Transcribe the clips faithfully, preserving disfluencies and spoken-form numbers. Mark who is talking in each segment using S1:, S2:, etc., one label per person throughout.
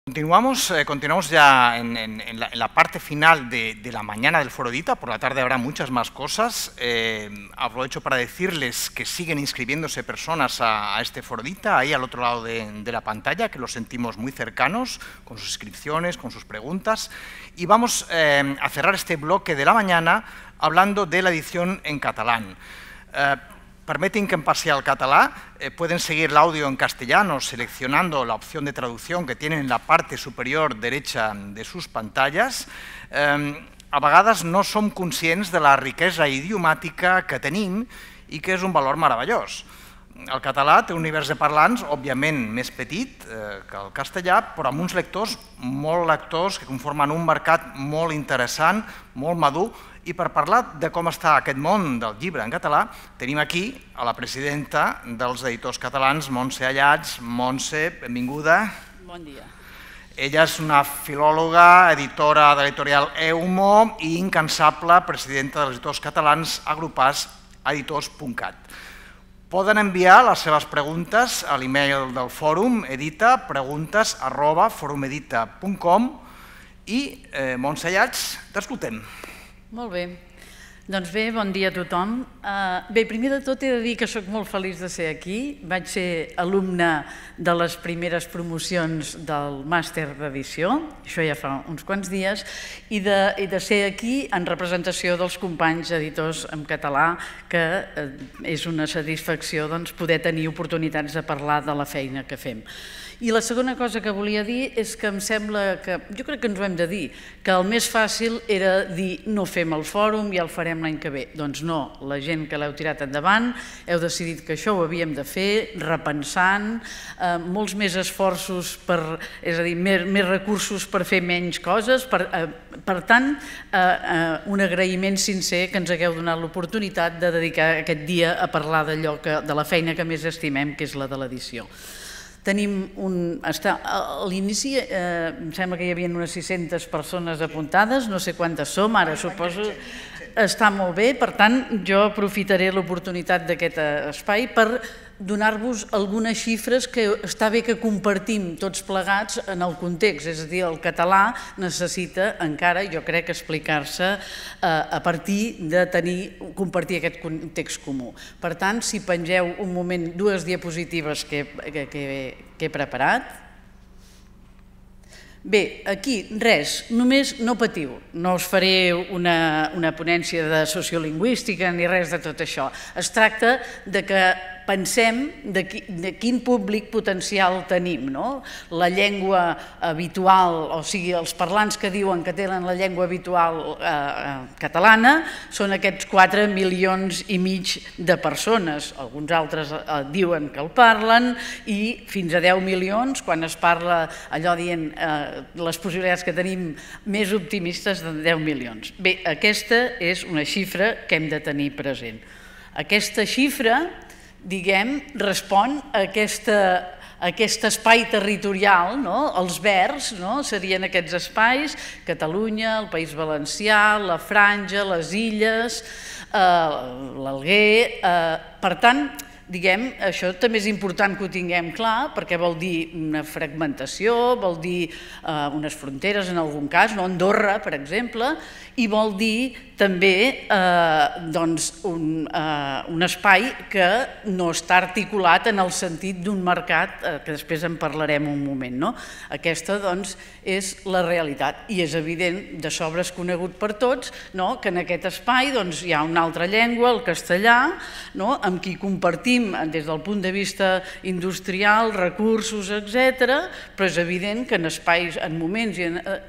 S1: Continuamos, eh, continuamos ya en, en, en, la, en la parte final de, de la mañana del Foro Edita. Por la tarde habrá muchas más cosas. Eh, aprovecho para decirles que siguen inscribiéndose personas a, a este Foro Edita, ahí al otro lado de, de la pantalla, que los sentimos muy cercanos, con sus inscripciones, con sus preguntas. Y vamos eh, a cerrar este bloque de la mañana hablando de la edición en catalán. Eh, Permiten que en passi al català, eh, pueden seguir el audio en castellano seleccionando la opción de traducción que tienen en la parte superior derecha de sus pantallas. Eh, a vegades no som conscients de la riquesa idiomàtica que tenim i que és un valor meravellós. El català té un univers de parlants, òbviament més petit eh, que el castellà, però amb uns lectors, molt lectors, que conformen un mercat molt interessant, molt madur. I per parlar de com està aquest món del llibre en català, tenim aquí a la presidenta dels editors catalans, Montse Allats. Montse, benvinguda.
S2: Bon dia.
S1: Ella és una filòloga, editora de l'editorial Eumo i incansable presidenta dels editors catalans agrupats a editors punt cat. Poden enviar les seves preguntes a l'email del fòrum, edita, preguntes arroba forumedita punt com i, eh, Montse Allats, t'escoltem.
S2: Molt bé. Doncs bé, bon dia a tothom. Bé, primer de tot he de dir que soc molt feliç de ser aquí. Vaig ser alumne de les primeres promocions del màster d'edició, això ja fa uns quants dies, i de ser aquí en representació dels companys editors en català, que és una satisfacció poder tenir oportunitats de parlar de la feina que fem. I la segona cosa que volia dir és que em sembla que, jo crec que ens ho hem de dir, que el més fàcil era dir no fem el fòrum i el farem l'any que ve. Doncs no, la gent que l'heu tirat endavant heu decidit que això ho havíem de fer, repensant, molts més esforços, és a dir, més recursos per fer menys coses. Per tant, un agraïment sincer que ens hagueu donat l'oportunitat de dedicar aquest dia a parlar d'allò, de la feina que més estimem, que és la de l'edició. Tenim un... A l'inici em sembla que hi havia unes sis-centes persones apuntades, no sé quantes som, ara suposo... Està molt bé, per tant, jo aprofitaré l'oportunitat d'aquest espai per donar-vos algunes xifres que està bé que compartim tots plegats en el context, és a dir, el català necessita encara, jo crec, explicar-se a partir de tenir, compartir aquest context comú. Per tant, si pengeu un moment dues diapositives que he preparat. Bé, aquí res, només no patiu, no us faré una ponència de sociolingüística ni res de tot això. Es tracta de que pensem de quin públic potencial tenim. La llengua habitual, o sigui, els parlants que diuen que tenen la llengua habitual catalana són aquests quatre milions i mig de persones. Alguns altres diuen que el parlen i fins a deu milions, quan es parla allò dient les possibilitats que tenim més optimistes de deu milions. Bé, aquesta és una xifra que hem de tenir present. Aquesta xifra, diguem, respon a aquest espai territorial, els verds serien aquests espais, Catalunya, el País Valencià, la Franja, les Illes, l'Alguer. Per tant, diguem, això també és important que ho tinguem clar, perquè vol dir una fragmentació, vol dir unes fronteres en algun cas, Andorra, per exemple, i vol dir també un espai que no està articulat en el sentit d'un mercat, que després en parlarem un moment. Aquesta, doncs, és la realitat i és evident, de sobres conegut per tots, que en aquest espai hi ha una altra llengua, el castellà, amb qui compartim des del punt de vista industrial, recursos, etcètera, però és evident que en espais, en moments,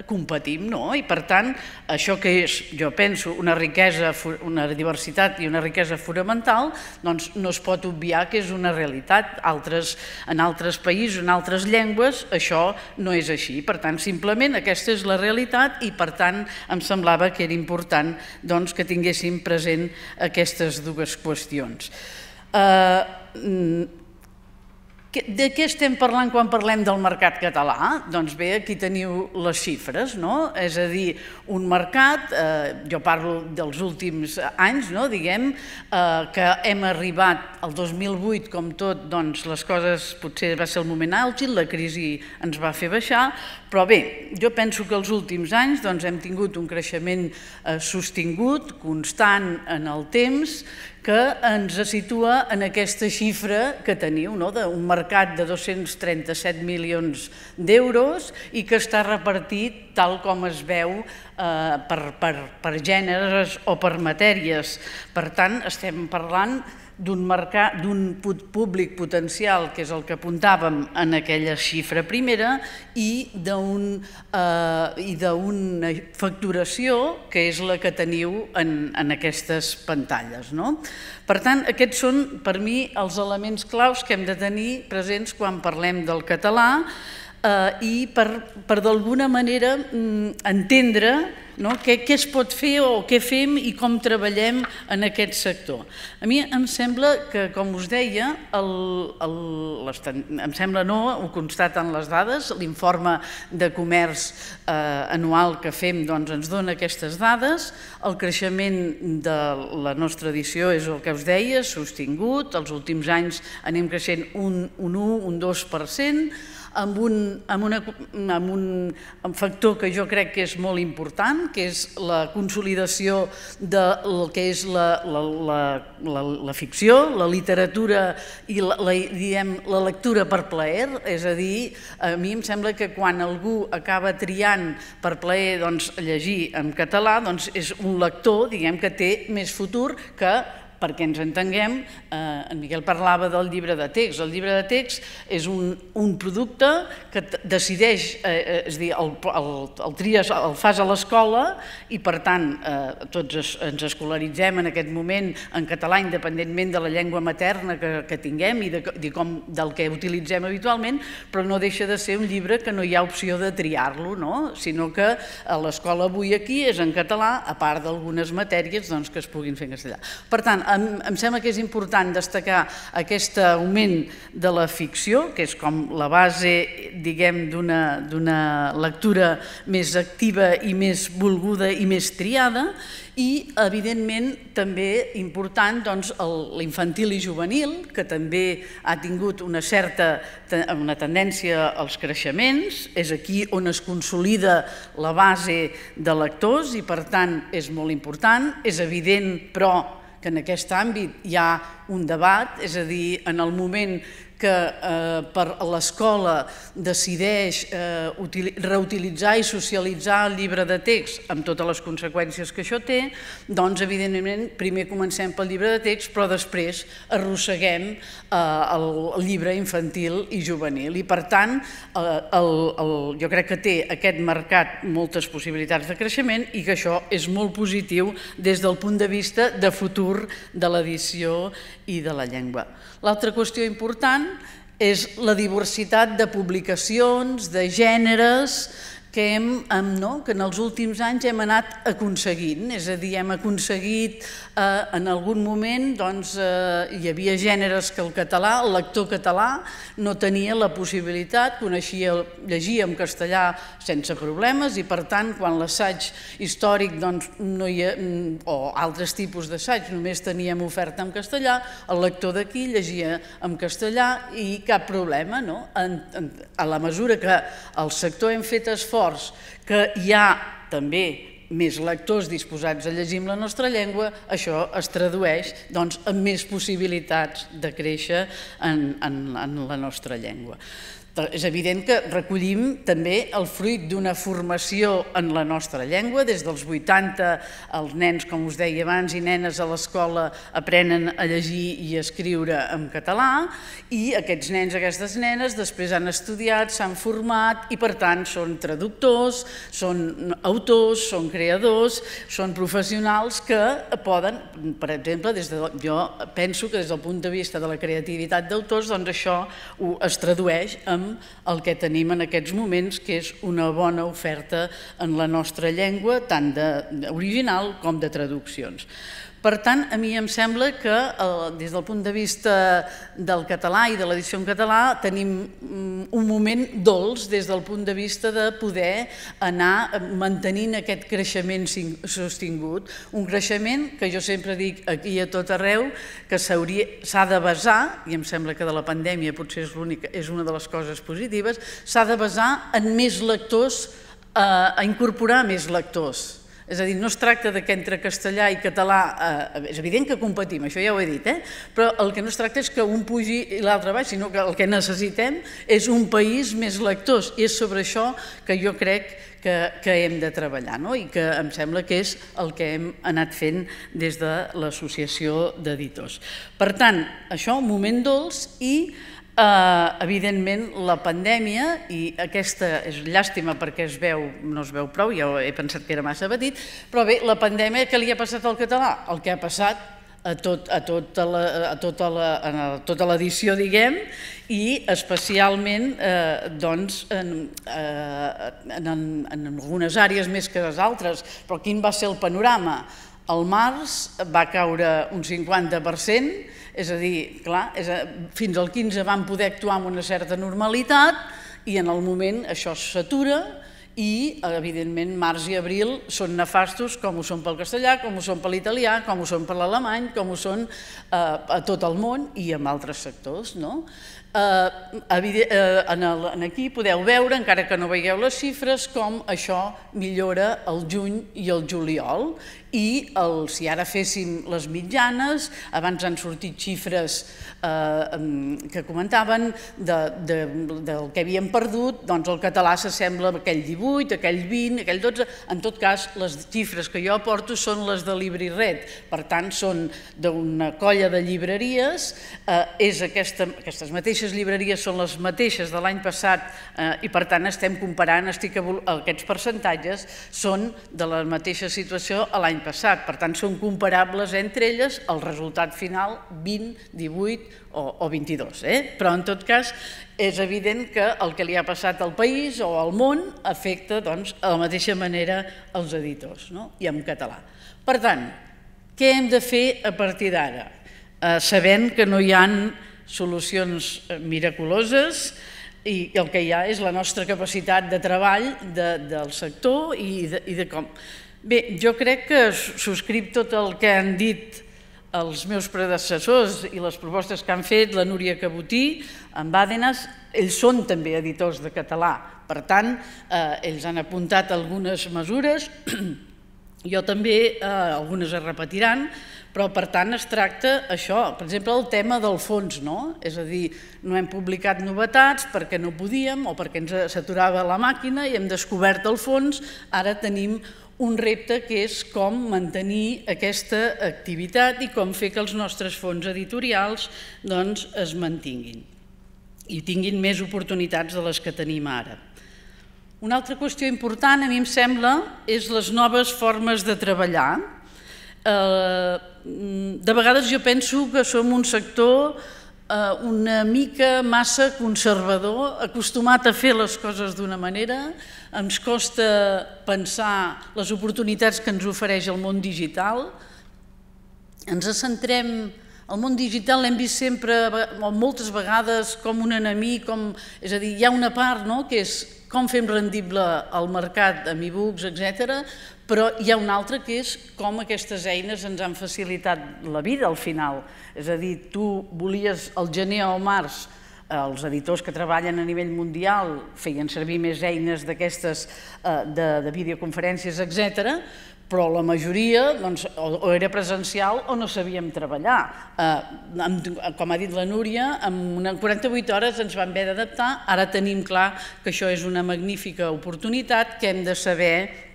S2: competim, i per tant, això que és, jo penso, una riquesa, una diversitat i una riquesa fonamental, doncs no es pot obviar que és una realitat. En altres països, en altres llengües, això no és així. Per tant, simplement aquesta és la realitat i, per tant, em semblava que era important que tinguéssim present aquestes dues qüestions. De què estem parlant quan parlem del mercat català? Doncs bé, aquí teniu les xifres, no? És a dir, un mercat, jo parlo dels últims anys, no? Diguem que hem arribat al dos mil vuit, com tot, doncs les coses potser va ser el moment àlgid, la crisi ens va fer baixar, però bé, jo penso que els últims anys hem tingut un creixement sostingut, constant en el temps, que ens situa en aquesta xifra que teniu, d'un mercat de dos-cents trenta-set milions d'euros i que està repartit tal com es veu per gèneres o per matèries. Per tant, estem parlant d'un mercat, d'un públic potencial, que és el que apuntàvem en aquella xifra primera, i d'una facturació que és la que teniu en aquestes pantalles. Per tant, aquests són, per mi, els elements claus que hem de tenir presents quan parlem del català i per d'alguna manera entendre què es pot fer o què fem i com treballem en aquest sector. A mi em sembla que, com us deia, em sembla no, ho constaten les dades, l'informe de comerç anual que fem ens dona aquestes dades, el creixement de la nostra edició és el que us deia, sostingut, els últims anys anem creixent un u, un dos per cent, amb un factor que jo crec que és molt important, que és la consolidació del que és la ficció, la literatura i la lectura per plaer. És a dir, a mi em sembla que quan algú acaba triant per plaer llegir en català, és un lector que té més futur que, perquè ens entenguem, en Miquel parlava del llibre de text. El llibre de text és un producte que decideix, és a dir, el tries, el fas a l'escola i, per tant, tots ens escolaritzem en aquest moment en català, independentment de la llengua materna que tinguem i del que utilitzem habitualment, però no deixa de ser un llibre que no hi ha opció de triar-lo, sinó que a l'escola avui aquí és en català, a part d'algunes matèries que es puguin fer en castellà. Per tant, em sembla que és important destacar aquest augment de la ficció, que és com la base, diguem, d'una lectura més activa i més volguda i més triada, i, evidentment, també important l'infantil i juvenil, que també ha tingut una certa tendència als creixements, és aquí on es consolida la base de lectors i, per tant, és molt important. És evident, però, que en aquest àmbit hi ha un debat, és a dir, en el moment que l'escola decideix reutilitzar i socialitzar el llibre de text amb totes les conseqüències que això té, doncs, evidentment, primer comencem pel llibre de text, però després arrosseguem el llibre infantil i juvenil. I, per tant, jo crec que té aquest mercat moltes possibilitats de creixement i que això és molt positiu des del punt de vista de futur de l'edició i de la llengua. L'altra qüestió important és la diversitat de publicacions, de gèneres, que en els últims anys hem anat aconseguint. És a dir, hem aconseguit, en algun moment, doncs, hi havia gèneres que el català, el lector català, no tenia la possibilitat, coneixia, llegia en castellà sense problemes i, per tant, quan l'assaig històric o altres tipus d'assaig només teníem oferta en castellà, el lector d'aquí llegia en castellà i cap problema. A la mesura que el sector hem fet esforç, que hi ha també més lectors disposats a llegir en la nostra llengua, això es tradueix en més possibilitats de créixer en la nostra llengua. És evident que recollim també el fruit d'una formació en la nostra llengua. Des dels vuitanta els nens, com us deia abans, i nenes a l'escola aprenen a llegir i a escriure en català i aquests nens i aquestes nenes després han estudiat, s'han format i, per tant, són traductors, són autors, són creadors, són professionals que poden, per exemple, jo penso que des del punt de vista de la creativitat d'autors, doncs això es tradueix en el que tenim en aquests moments, que és una bona oferta en la nostra llengua, tant d'original com de traduccions. Per tant, a mi em sembla que des del punt de vista del català i de l'edició en català tenim un moment dolç des del punt de vista de poder anar mantenint aquest creixement sostingut, un creixement que jo sempre dic aquí a tot arreu que s'ha de basar, i em sembla que de la pandèmia potser és l'única, és una de les coses positives, s'ha de basar en més lectors, a incorporar més lectors. És a dir, no es tracta que entre castellà i català, és evident que competim, això ja ho he dit, però el que no es tracta és que un pugi i l'altre baix, sinó que el que necessitem és un país més lectors, i és sobre això que jo crec que hem de treballar i que em sembla que és el que hem anat fent des de l'Associació d'Editors. Per tant, això, un moment dolç i evidentment la pandèmia, i aquesta és llàstima perquè es veu, no es veu prou, ja he pensat que era massa petit, però bé, la pandèmia, què li ha passat al català? El que ha passat a tota l'edició, diguem, i especialment en algunes àrees més que les altres. Però quin va ser el panorama? Al març va caure un cinquanta per cent, és a dir, clar, fins al quinze van poder actuar amb una certa normalitat i en el moment això s'atura i, evidentment, març i abril són nefastos com ho són pel castellà, com ho són per l'italià, com ho són per l'alemany, com ho són a tot el món i en altres sectors, no? Aquí podeu veure, encara que no veieu les xifres, com això millora el juny i el juliol i si ara féssim les mitjanes, abans han sortit xifres que comentaven del que havíem perdut, doncs el català s'assembla a aquell divuit, aquell vint, aquell dotze, en tot cas les xifres que jo aporto són les de LibriRed, per tant són d'una colla de llibreries, aquestes mateixes llibreries són les mateixes de l'any passat i per tant estem comparant, aquests percentatges són de la mateixa situació a l'any passat, per tant són comparables entre elles el resultat final vint, divuit o vint-i-dos, però en tot cas és evident que el que li ha passat al país o al món afecta de la mateixa manera els editors i en català. Per tant, què hem de fer a partir d'ara? Sabent que no hi ha solucions miraculoses i el que hi ha és la nostra capacitat de treball del sector i de com... Bé, jo crec que subscric tot el que han dit els meus predecessors i les propostes que han fet la Núria Cabotí, en Bàdenas, ells són també editors de català, per tant, ells han apuntat algunes mesures, jo també, algunes es repetiran, però per tant es tracta això, per exemple el tema del fons, no? És a dir, no hem publicat novetats perquè no podíem o perquè ens saturava la màquina i hem descobert el fons, ara tenim un repte que és com mantenir aquesta activitat i com fer que els nostres fons editorials es mantinguin i tinguin més oportunitats de les que tenim ara. Una altra qüestió important, a mi em sembla, és les noves formes de treballar. De vegades jo penso que som un sector una mica massa conservador, acostumat a fer les coses d'una manera, ens costa pensar les oportunitats que ens ofereix el món digital, ens centrem, el món digital l'hem vist sempre, moltes vegades, com un enemic, és a dir, hi ha una part que és com fem rendible el mercat amb e-books, etcètera, però hi ha una altra que és com aquestes eines ens han facilitat la vida al final. És a dir, tu volies al gener o al març, els editors que treballen a nivell mundial feien servir més eines d'aquestes de videoconferències, etcètera, però la majoria o era presencial o no sabíem treballar. Com ha dit la Núria, en quaranta-vuit hores ens vam haver d'adaptar, ara tenim clar que això és una magnífica oportunitat que hem de saber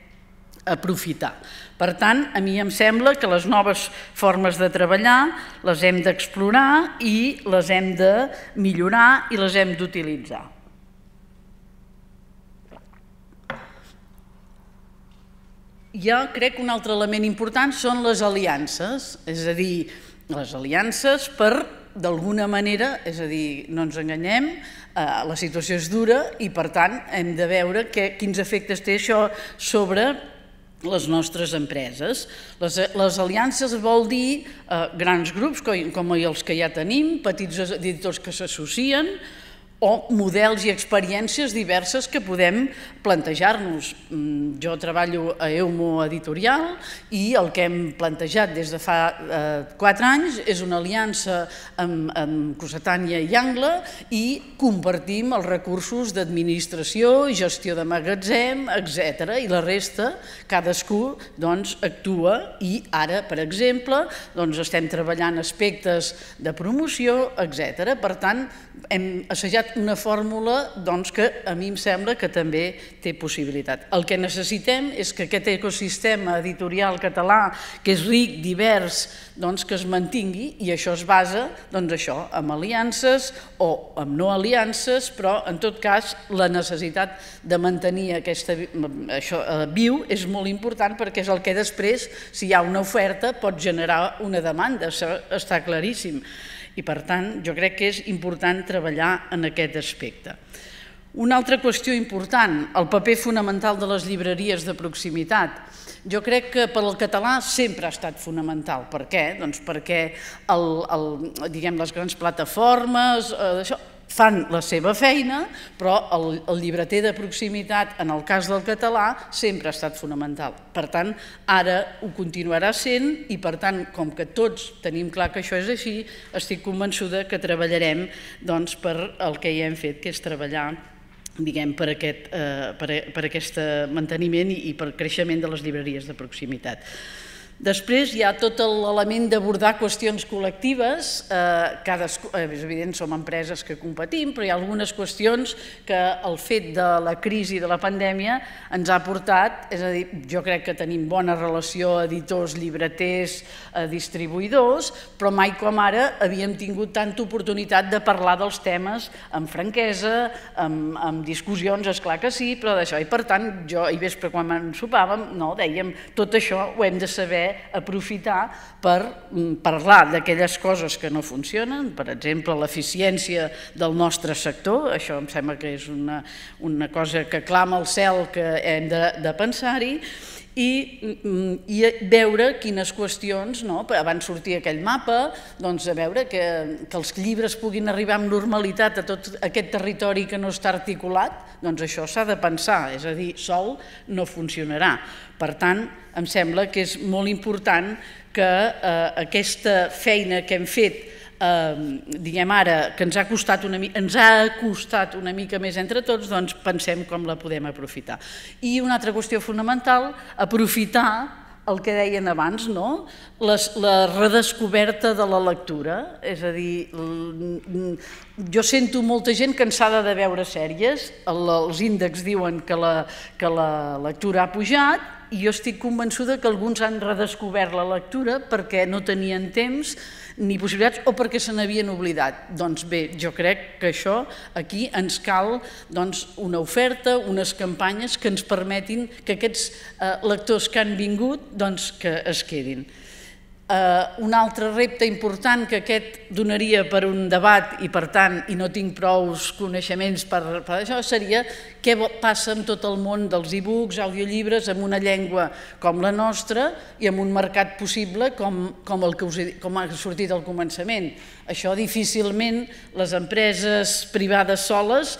S2: aprofitar. Per tant, a mi em sembla que les noves formes de treballar les hem d'explorar i les hem de millorar i les hem d'utilitzar. Jo crec que un altre element important són les aliances, és a dir, les aliances per, d'alguna manera, és a dir, no ens enganyem, la situació és dura i, per tant, hem de veure quins efectes té això sobre les nostres empreses. Les, les aliances vol dir eh, grans grups com els que ja tenim, petits editors que s'associen, o models i experiències diverses que podem plantejar-nos. Jo treballo a Eumo Editorial i el que hem plantejat des de fa quatre anys és una aliança amb Cossetània i Angle i compartim els recursos d'administració, gestió de magatzem, etcètera. I la resta, cadascú actua i ara, per exemple, estem treballant aspectes de promoció, etcètera. Per tant, hem assajat una fórmula que a mi em sembla que també té possibilitat. El que necessitem és que aquest ecosistema editorial català, que és ric, divers, que es mantingui, i això es basa en aliances o en no aliances, però en tot cas la necessitat de mantenir això viu és molt important perquè és el que després, si hi ha una oferta, pot generar una demanda, això està claríssim. I per tant, jo crec que és important treballar en aquest aspecte. Una altra qüestió important, el paper fonamental de les llibreries de proximitat. Jo crec que per al català sempre ha estat fonamental. Per què? Doncs perquè les grans plataformes fan la seva feina, però el llibreter de proximitat, en el cas del català, sempre ha estat fonamental. Per tant, ara ho continuarà sent i, per tant, com que tots tenim clar que això és així, estic convençuda que treballarem per el que ja hem fet, que és treballar per aquest manteniment i per creixement de les llibreries de proximitat. Després hi ha tot l'element d'abordar qüestions col·lectives, és evident, som empreses que competim, però hi ha algunes qüestions que el fet de la crisi de la pandèmia ens ha portat, és a dir, jo crec que tenim bona relació editors, llibreters, distribuïdors, però mai com ara havíem tingut tanta oportunitat de parlar dels temes amb franquesa, amb discussions, esclar que sí, però d'això, i per tant, jo ahir vespre quan ensopàvem, dèiem, tot això ho hem de saber aprofitar per parlar d'aquelles coses que no funcionen, per exemple, l'eficiència del nostre sector, això em sembla que és una cosa que clama al cel que hem de pensar-hi, i veure quines qüestions, abans sortia aquell mapa, doncs a veure que els llibres puguin arribar amb normalitat a tot aquest territori que no està articulat, doncs això s'ha de pensar, és a dir, sol no funcionarà. Per tant, em sembla que és molt important que aquesta feina que hem fet, diguem ara, que ens ha costat una mica, ens ha costat una mica més entre tots, doncs pensem com la podem aprofitar. I una altra qüestió fonamental, aprofitar el que deien abans, la redescoberta de la lectura, és a dir, jo sento molta gent cansada de veure sèries, els índexs diuen que la lectura ha pujat, i jo estic convençuda que alguns han redescobert la lectura perquè no tenien temps ni possibilitats o perquè se n'havien oblidat. Doncs bé, jo crec que això aquí ens cal una oferta, unes campanyes que ens permetin que aquests lectors que han vingut que es quedin. Un altre repte important que aquest donaria per un debat i per tant, i no tinc prou coneixements per això, seria què passa amb tot el món dels e-books, audiollibres, amb una llengua com la nostra i amb un mercat possible com el que ha sortit al començament. Això difícilment les empreses privades soles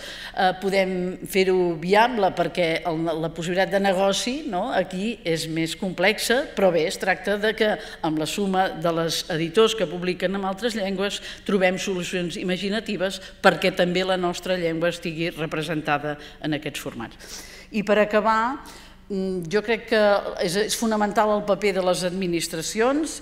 S2: podem fer-ho viable perquè la possibilitat de negoci aquí és més complexa, però bé, es tracta que amb la suma de les editors que publiquen en altres llengües trobem solucions imaginatives perquè també la nostra llengua estigui representada en aquests formats. I per acabar, jo crec que és fonamental el paper de les administracions.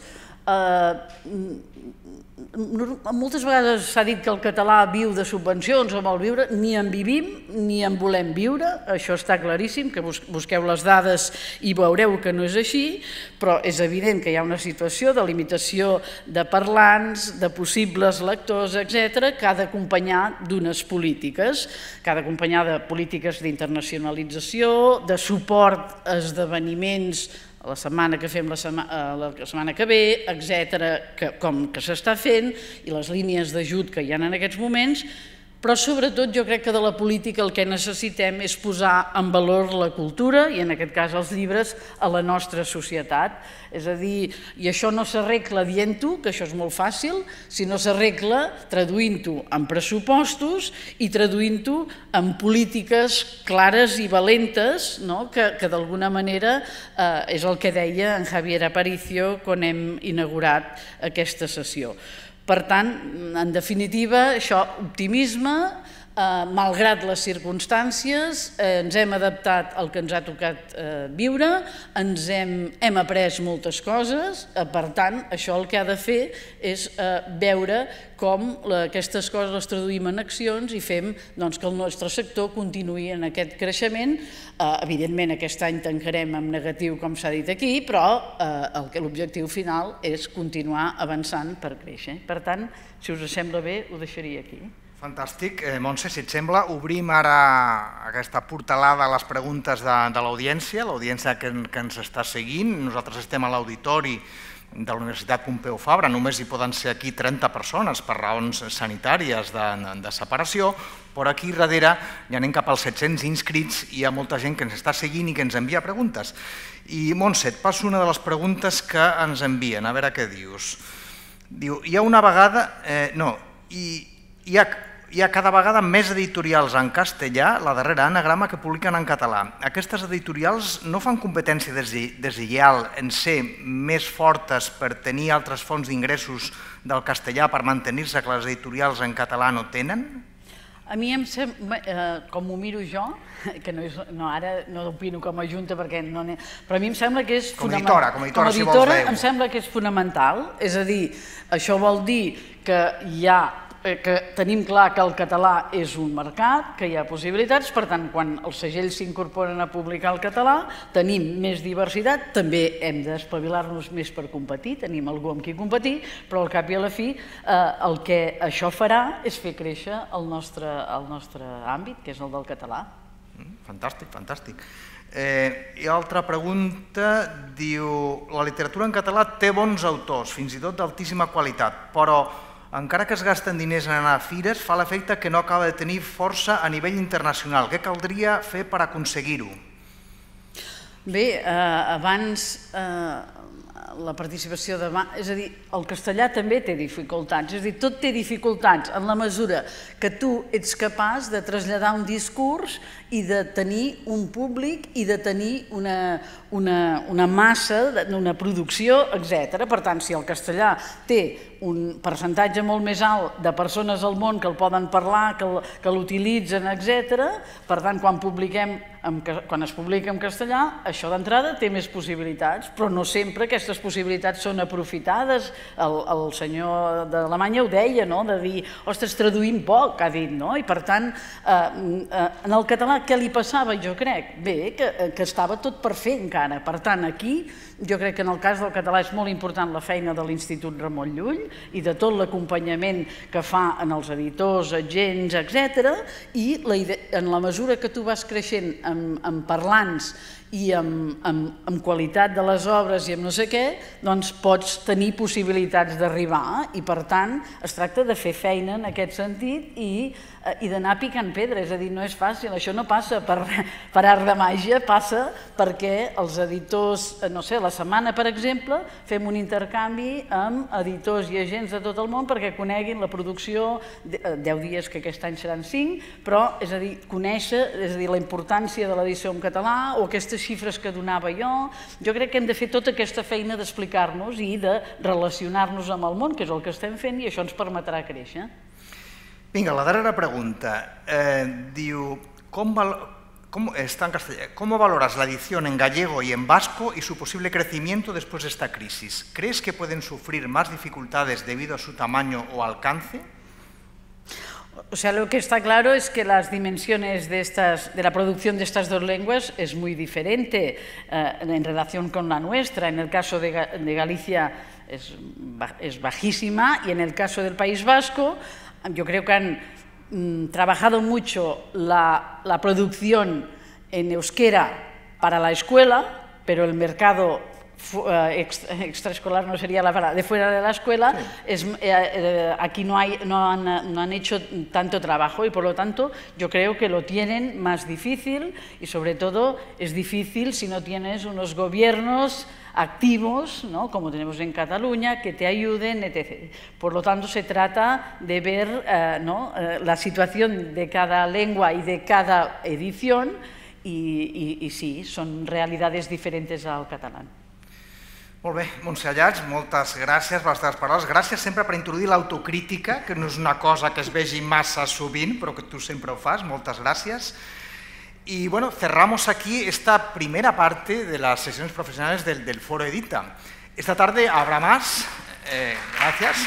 S2: Moltes vegades s'ha dit que el català viu de subvencions o vol viure, ni en vivim ni en volem viure, això està claríssim, que busqueu les dades i veureu que no és així, però és evident que hi ha una situació de limitació de parlants, de possibles lectors, etcètera, que ha d'acompanyar d'unes polítiques, que ha d'acompanyar de polítiques d'internacionalització, de suport a esdeveniments la setmana que fem la setmana que ve, etcètera, com que s'està fent, i les línies d'ajut que hi ha en aquests moments, però sobretot jo crec que de la política el que necessitem és posar en valor la cultura, i en aquest cas els llibres, a la nostra societat. És a dir, i això no s'arregla dient-ho, que això és molt fàcil, sinó s'arregla traduint-ho en pressupostos i traduint-ho en polítiques clares i valentes, que d'alguna manera és el que deia en Javier Aparicio quan hem inaugurat aquesta sessió. Per tant, en definitiva, això, optimisme, malgrat les circumstàncies, ens hem adaptat al que ens ha tocat viure, ens hem après moltes coses, per tant, això el que ha de fer és veure com aquestes coses les traduïm en accions i fem que el nostre sector continuï en aquest creixement. Evidentment, aquest any tancarem en negatiu, com s'ha dit aquí, però l'objectiu final és continuar avançant per créixer. Per tant, si us sembla bé, ho deixaria aquí.
S1: Fantàstic. Montse, si et sembla, obrim ara aquesta portalada a les preguntes de l'audiència, l'audiència que ens està seguint. Nosaltres estem a l'auditori de la Universitat Pompeu Fabra, només hi poden ser aquí trenta persones per raons sanitàries de separació, però aquí darrere ja anem cap als set-cents inscrits i hi ha molta gent que ens està seguint i que ens envia preguntes. I Montse, et passo una de les preguntes que ens envien, a veure què dius. Diu, hi ha una vegada... No, hi ha... Hi ha cada vegada més editorials en castellà, la darrera anagrama, que publiquen en català. Aquestes editorials no fan competència deslleial en ser més fortes per tenir altres fonts d'ingressos del castellà per mantenir-se que les editorials en català no tenen?
S2: A mi em sembla, com ho miro jo, que ara no opino com a junta perquè no n'he... Però a mi em sembla que és fonamental.
S1: Com a editora, si vols dir-ho.
S2: Em sembla que és fonamental, és a dir, això vol dir que hi ha que tenim clar que el català és un mercat, que hi ha possibilitats, per tant, quan els segells s'incorporen a publicar el català, tenim més diversitat, també hem d'espavilar-nos més per competir, tenim algú amb qui competir, però al cap i a la fi el que això farà és fer créixer el nostre àmbit, que és el del català.
S1: Fantàstic, fantàstic. I altra pregunta, diu, la literatura en català té bons autors, fins i tot d'altíssima qualitat, però encara que es gasten diners en anar a fires, fa l'efecte que no acaba de tenir força a nivell internacional. Què caldria fer per aconseguir-ho?
S2: Bé, abans la participació de... És a dir, el castellà també té dificultats, és a dir, tot té dificultats en la mesura que tu ets capaç de traslladar un discurs i de tenir un públic i de tenir una massa, una producció, etcètera. Per tant, si el castellà té un percentatge molt més alt de persones al món que el poden parlar, que l'utilitzen, etcètera, per tant, quan publiquem quan es publica en castellà, això d'entrada té més possibilitats, però no sempre aquestes possibilitats són aprofitades. El senyor d'Alemanya ho deia, de dir, ostres, traduïm poc, ha dit, no? I per tant, en el català què li passava, jo crec? Bé, que estava tot per fer encara. Per tant, aquí, jo crec que en el cas del català és molt important la feina de l'Institut Ramon Llull i de tot l'acompanyament que fa en els editors, agents, etcètera, i en la mesura que tu vas creixent amb parlants i amb qualitat de les obres i amb no sé què, doncs pots tenir possibilitats d'arribar i, per tant, es tracta de fer feina en aquest sentit i d'anar picant pedra, és a dir, no és fàcil, això no passa per art de màgia, passa perquè els editors, no sé, la setmana, per exemple, fem un intercanvi amb editors i agents de tot el món perquè coneguin la producció, deu dies que aquest any seran cinc, però, és a dir, conèixer, és a dir, la importància de l'edició en català o aquestes xifres que donava jo, jo crec que hem de fer tota aquesta feina d'explicar-nos i de relacionar-nos amb el món, que és el que estem fent, i això ens permetrà créixer.
S1: Vinga, la darrera pregunta. Diu, está en castellano, ¿cómo valoras la edición en gallego y en vasco y su posible crecimiento después de esta crisis? ¿Crees que pueden sufrir más dificultades debido a su tamaño o alcance?
S2: O sea, lo que está claro es que las dimensiones de, estas, de la producción de estas dos lenguas es muy diferente eh, en relación con la nuestra. En el caso de, de Galicia es, es bajísima y en el caso del País Vasco yo creo que han mm, trabajado mucho la, la producción en euskera para la escuela, pero el mercado extraescolar no sería la palabra, de fuera de la escuela, sí. es, eh, aquí no, hay, no, han, no han hecho tanto trabajo y por lo tanto yo creo que lo tienen más difícil y sobre todo es difícil si no tienes unos gobiernos activos, ¿no? Como tenemos en Cataluña, que te ayuden, etcétera. Por lo tanto, se trata de ver eh, ¿no? eh, la situación de cada lengua y de cada edición y, y, i sí, són realitats diferents al català.
S1: Molt bé, Montse Allats, moltes gràcies per les teves paraules. Gràcies sempre per introduir l'autocrítica, que no és una cosa que es vegi massa sovint, però que tu sempre ho fas. Moltes gràcies. Y bueno, cerramos aquí esta primera parte de las sesiones profesionales del, del Foro Edita. Esta tarde habrá más. Eh, gracias.